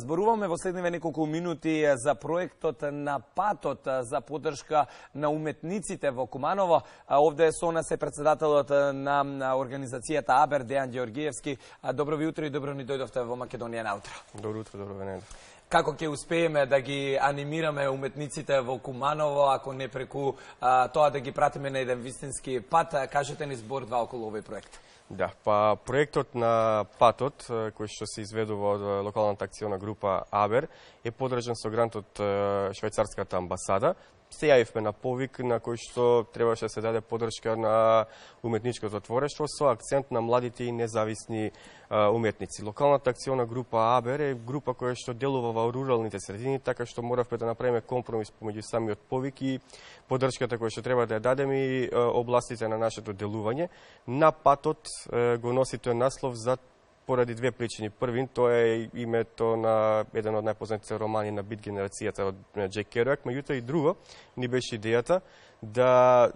Зборуваме во следниве неколку минути за проектот на патот за поддршка на уметниците во Куманово. Овде со нас е председателот на организацијата АБЕР, Дејан Ѓоргиевски. Добро ви утро и добро ни дојдовте во Македонија наутро. Добро утро, добро венење. Како ќе успееме да ги анимираме уметниците во Куманово, ако не преку тоа да ги пратиме на еден вистински пат? Кажете ни збор-два околу овој проект. Да, па проектот на патот, кој што се изведува од локалната акциона група АБЕР, е подржан со грант од швајцарската амбасада. Се јавивме на повик на кој што требаше да се даде поддршка на уметничкото творештво со акцент на младите и независни уметници. Локалната акциона група АБЕР е група која што делува во руралните средини, така што моравме да направиме компромис помеѓу самиот повик и поддршката која што треба да ја дадеме и областите на нашето делување. На патот го носи тој наслов за поради две причини. Првин, тоа е името на еден од најпознатите романи на бит генерацијата од Џек Керуак, меѓутоа и друго ни беше идејата да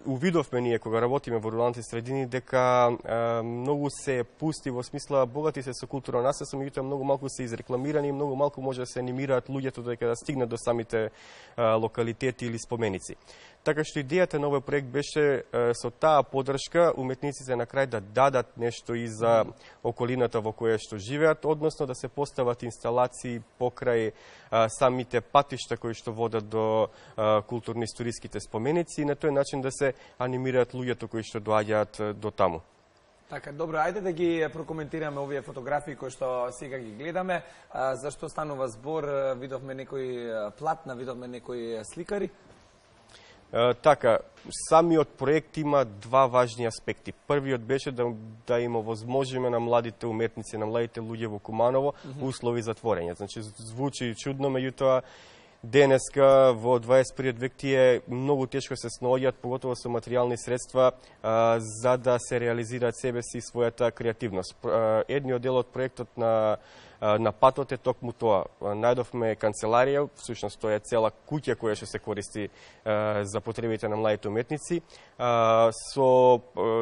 увидовме ние кога работиме во руралните средини дека многу се пусти во смисла богати се со културно наследство, меѓутоа многу малку се изрекламирани и многу малку може да се анимираат луѓето дека да стигнат до самите локалитети или споменици. Така што идејата на овој проект беше со таа поддршка уметниците на крај да дадат нешто и за околината во која што живеат, односно да се постават инсталации покрај самите патишта кои што водат до културно-историските споменици и на тој начин да се анимираат луѓето кои што доаѓаат до таму. Така, добро, ајде да ги прокоментираме овие фотографии кои што сега ги гледаме. Зашто станува збор? Видовме некои платна, видовме некои сликари. Така, самиот проект има два важни аспекти. Првиот беше да им овозможиме на младите уметници, на младите луѓе во Куманово услови за творење. Значи, звучи чудно, меѓутоа денеска во 21 век тие многу тешко се сноѓаат, поготово со материјални средства, за да се реализираат себе си и својата креативност. Едниот дел од проектот на патот е токму тоа. Најдовме канцеларија, всушност тоа е цела куќа која што се користи за потребите на младите уметници. Со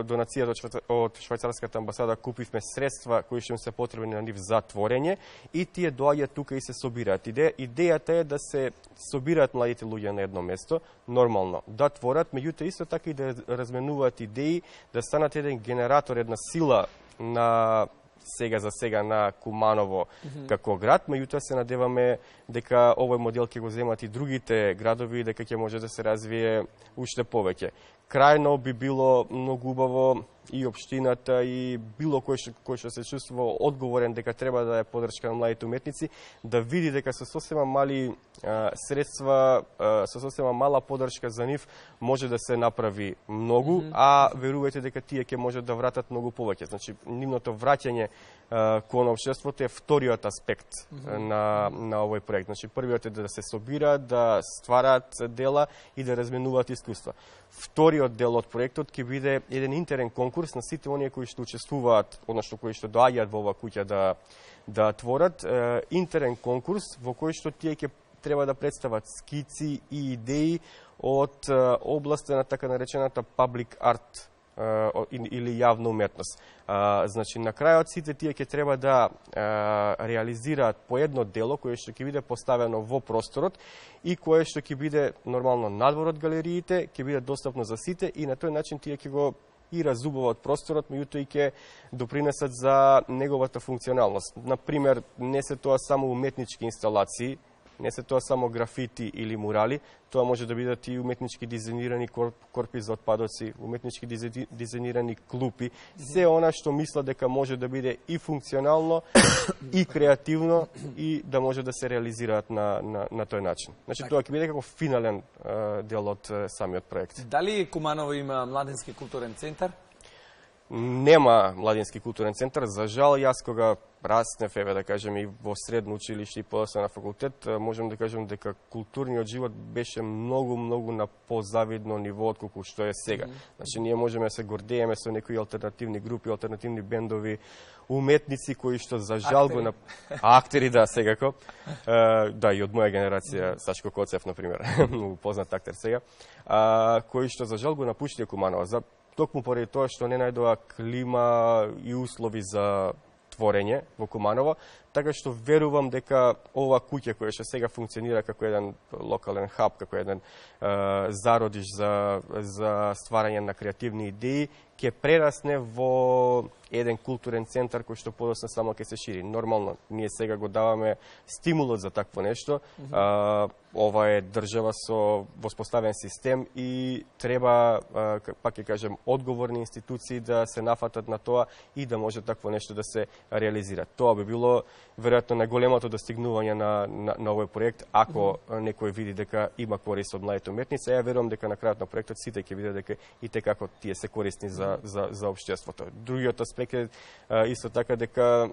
донацијата од швајцарската амбасада купивме средства кои што им се потребни на нив за творење и тие доаѓаат тука и се собираат. Идејата е да се собираат младите луѓе на едно место, нормално, да творат, меѓутоа исто така и да разменуваат идеи, да станат еден генератор, една сила на сега на Куманово како град, меѓутоа се надеваме дека овој модел ќе го земат и другите градови и дека ќе може да се развие уште повеќе. Крајно би било многу убаво и општината и било кој што се чувствува одговорен дека треба да е поддршка на младите уметници, да види дека со сосема мали средства, со сосема мала поддршка за нив може да се направи многу, а верувајте дека тие ќе можат да вратат многу повеќе. Значи, нивното враќање кон општеството е вториот аспект на овој проект. Значи, првиот е да се собираат, да ствараат дела и да разменуваат искуства. Вториот дел од проектот ќе биде еден интерен конкурс на сите оние кои што учествуваат, односно кои што доаѓаат во оваа куќа да творат, интерен конкурс во кој што тие ќе треба да представат скици и идеи од областа на така наречената public art или јавна уметност. Значи, на крајот сите тие ќе треба да реализираат по едно дело кое што ќе биде поставено во просторот и кое што ќе биде нормално надвор од галериите, ќе биде достапно за сите и на тој начин тие ќе го и разубават просторот, меѓутоа и ќе допринесат за неговата функционалност. Например, не се тоа само уметнички инсталации, не се тоа само графити или мурали, тоа може да бидат и уметнички дизајнирани корпи за отпадоци, уметнички дизајнирани клупи, се она што мисла дека може да биде и функционално, и креативно, и да може да се реализираат на тој начин. Значи, тоа ќе биде како финален дел од самиот проект. Дали Куманово има младински културен центар? Нема младински културен центар. За жал, јас кога раснев, да кажем, и во средно училиште и подоцна на факултет, можем да кажем дека културниот живот беше многу на позавидно ниво отколку што е сега. Значи, ние можеме да се гордееме со некои алтернативни групи, алтернативни бендови, уметници кои што за жал го актери, да, секако. Да, и од моја генерација, Сашко Коцев, например, многу познат актер сега, кои што за жал го напуштија Куманово. Токму поради тоа што не најдоа клима и услови за творење во Куманово, така што верувам дека ова куќа која што сега функционира како еден локален хаб, како еден зародиш за стварање на креативни идеи, ќе прерасне во еден културен центар кој што подоцна само ќе се шири. Нормално, ние сега го даваме стимулот за такво нешто. Ова е држава со воспоставен систем и треба, пак ќе кажем, одговорни институции да се нафатат на тоа и да може такво нешто да се реализира. Тоа би било веројатно најголемото достигнување на овој проект, ако некој види дека има корист од младите уметници. Ја верувам дека на крајот на проектот сите ќе видат дека и текако тие се корисни за општеството. Другиот аспект е исто така дека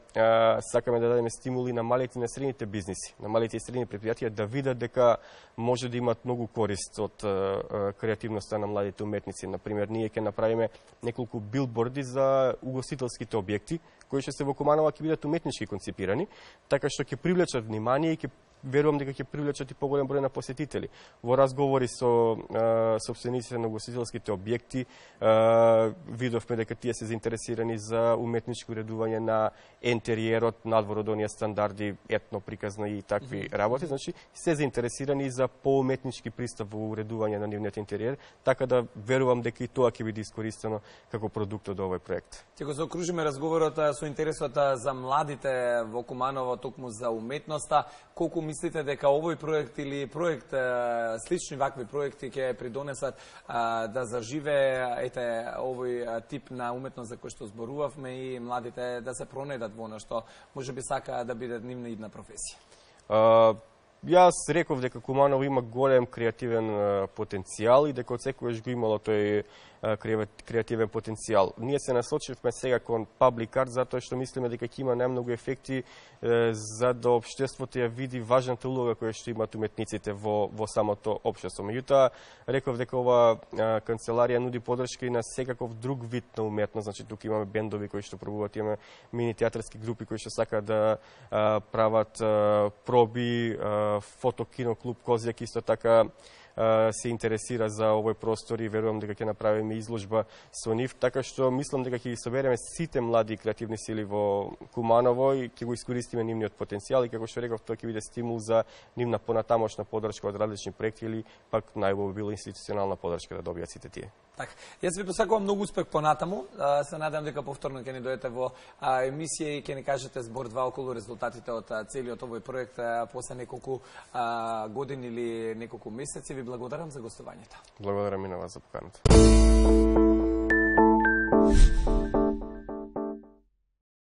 сакаме да дадеме стимули на малите и на средните бизниси, на малите и средни предпријатија да видат дека може да имат многу корист од креативноста на младите уметници. Например, ние ќе направиме неколку билборди за угостителските објекти, кои што се во Куманово ќе бидат уметнички концепирани, така што ќе привлечат внимание и ќе верувам дека ќе привлечат и поголем број на посетители. Во разговори со сопствениците на угостителските објекти видовме дека тие се заинтересирани за уметничко уредување на ентериерот, надвор од оние стандарди, етно, приказно и такви работи. Значи, се заинтересирани за поуметнички пристап во уредување на нивниот интериер, така да верувам дека и тоа ќе биде искористено како продукт од овој проект. Ќе го заокружиме разговорот со интересот за младите во Куманово, токму за уметноста. Колку мислите дека овој проект или проект, слични вакви проекти ќе придонесат да заживее овој тип на уметност за кој што зборувавме и младите да се пронедат во она што може би сака да биде нивна идна професија? Јас реков дека Куманово има голем креативен потенцијал и дека од секојаш го имало тој креативен потенцијал. Ние се насочивме сега кон паблик арт затоа што мислиме дека ќе има најмногу ефекти за да општеството ја види важната улога која што имаат уметниците во самото општество. Меѓутоа, реков дека ова канцеларија нуди поддршка и на секаков друг вид на уметност. Значи, тука имаме бендови кои што пробуваат, имаме мини театарски групи кои што сакаат да прават проби, фотокино клуб Козјак исто така се интересира за овој простор и верувам дека ќе направиме изложба со нив, така што мислам дека ќе ги собереме сите млади и креативни сили во Куманово и ќе го искористиме нивниот потенцијал и како што реков, тоа ќе биде стимул за нивна понатамошна поддршка од различни проекти или пак најубаво било институционална поддршка да добијат сите тие. Така. Јас ви посакувам многу успех понатаму. Се надевам дека повторно ќе ни дојдете во емисија и ќе ни кажете збор два околу резултатите од целиот овој проект после неколку години или неколку месеци. Ви благодарам за гостувањето. Благодарам и на вас за поканата.